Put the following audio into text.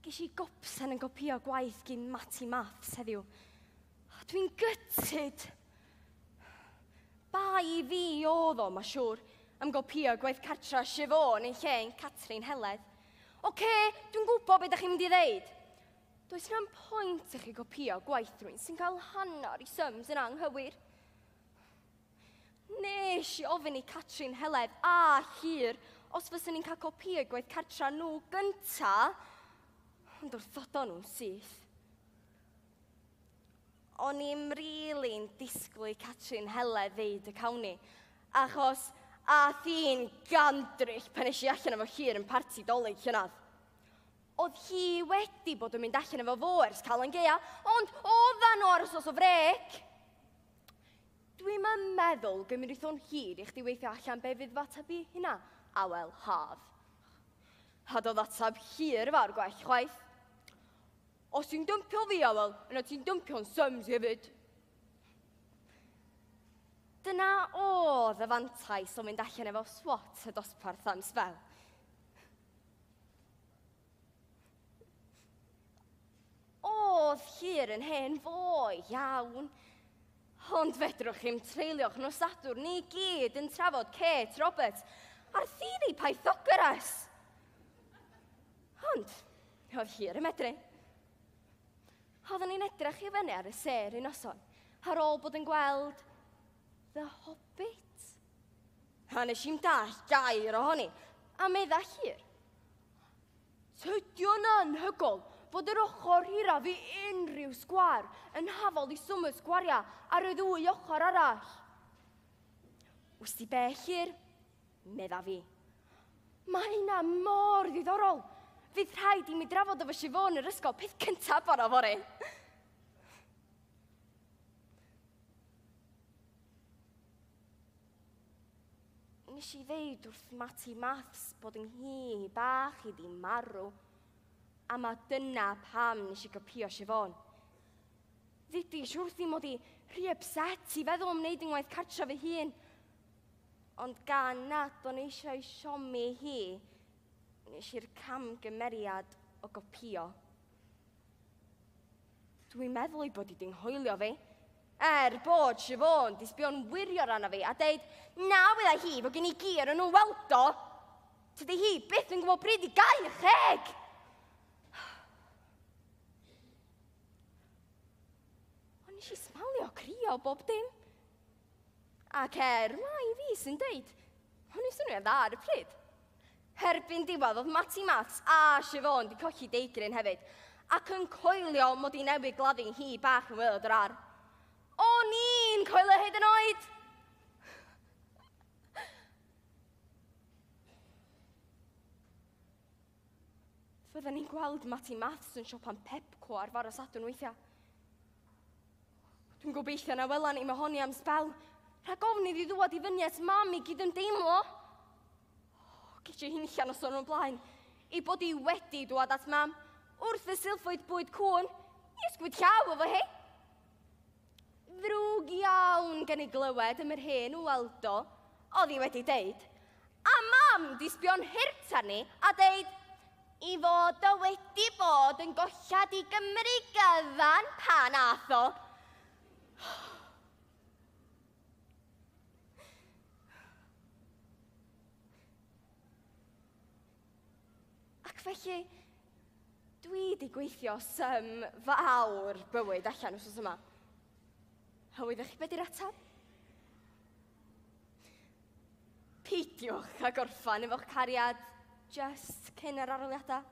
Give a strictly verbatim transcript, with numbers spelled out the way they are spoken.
Ges i gopsan yn gopio gwaith gyn Matty Maths heddiw. Dwi'n gutted. Bai fi oedd o, ma siŵr, am gopio gwaith cartra Siobhan yn lle yn Catrin Heledd. Oce, dwi'n gwybod beth ydych chi'n mynd i ddeud. Does na'm pwynt i chi gopio gwaith rhywun sy'n cael hanner i sums yn anghywir. Nes i ofyn i Catrin Heledd a Llyr os fyswn ni'n cael copio gwaith cartra nhw gynta, ond wrthodon nhw'n syth. O'n i'm rili'n disgwyl i Catrin Heledd ddeud y cawn ni, achos ath hi'n gandryll pan es i allan efo Llyr yn parti Dolig llynedd. Oedd hi wedi bod yn mynd allan efo fo ers Calan Gaea, ond oeddan nhw ar wsos o frec. Dwi'm yn meddwl gymryd o'n hir i chdi weithio allan be fydd f'ateb i hynna, Awel Haf. A doedd atab hir fawr gwell chwaith. Os ti'n dympio fi, Awel, yna ti'n dympio'n sums hefyd. Dyna oedd y fantais o mynd allan efo swat y dosbarth am sbel. Oedd Llyr yn hen foi iawn, ond fedrwch chi'm treulio'ch nos Sadwrn ni gyd yn trafod Kate Roberts a'r theori Pythagoras. Ond, oedd Llyr yn medru. Oedden ni'n edrych i fyny ar y sêr un noson, ar ôl bod yn gweld The Hobbit. A nes i'm dallt gair ohoni, a medda Llyr. Tydi o'n anhygoel fod yr ochr hiraf i unrhyw sgwâr yn hafal i swm y sgwaria ar y ddwy ochr arall. Wsti be, Llyr? Medda fi. Mae hynna mor ddiddorol. Fydd rhaid i mi drafod efo Siobhan yr ysgol peth cyntaf bora fory. Nes i ddeud wrth Matty Maths bod yng nghi bach i di marw, a ma dyna pam nes i gopio Siobhan. Ddudis wrthi mod i rhy upset i feddwl am wneud yng ngwaith cartra fy hun. Ond gan nad o'n eisiau siomi hi, nes i'r camgymeriad o gopio. Dwi'n meddwl ei bod i di'n hoelio fi. Er bod Siobhan di sbio'n wirion arna fi a deud, na wydda hi fod gen i gur yn nhw weld o. Tydi hi byth yn gwybod pryd i gau y cheg. Ond nes i smalio crio bob dim. Ac er mai fi sy'n deud, o'n i swnio dda ar y pryd. Erbyn diwedd oedd Matty Maths a Siobhan di colli deigryn hefyd, ac yn coelio mod i newydd gladdu'n hi bach yn waelod yr ardd. O'n i'n coelio hyd yn oed! Fydden ni'n gweld Matty Maths yn siopa'n Pepco ar fore Sadwrn weithiau. Dwi'n gobeithio na welan ni mohoni am sbel, rhag ofn iddi ddŵad i fyny at mam i gydymdeimlo. Ges i hunllan noson o'r blaen, i bod i wedi dŵad at mam, wrth y silffoedd bwyd cŵn, i ysgwyd llaw efo hi. Ddrwg iawn gen i glywed am yr hen Waldo, oedd hi wedi deud. A mam di sbio'n hurt arni a deud, i fod o wedi bod yn gollad i Gymru gyfan pan ath o. Ac felly, dwi di gweithio sym fawr bywyd allan wsos yma. A wyddech chi beth di'r atab? Peidiwch a gorffan efo'ch cariad just cyn yr arholiadau.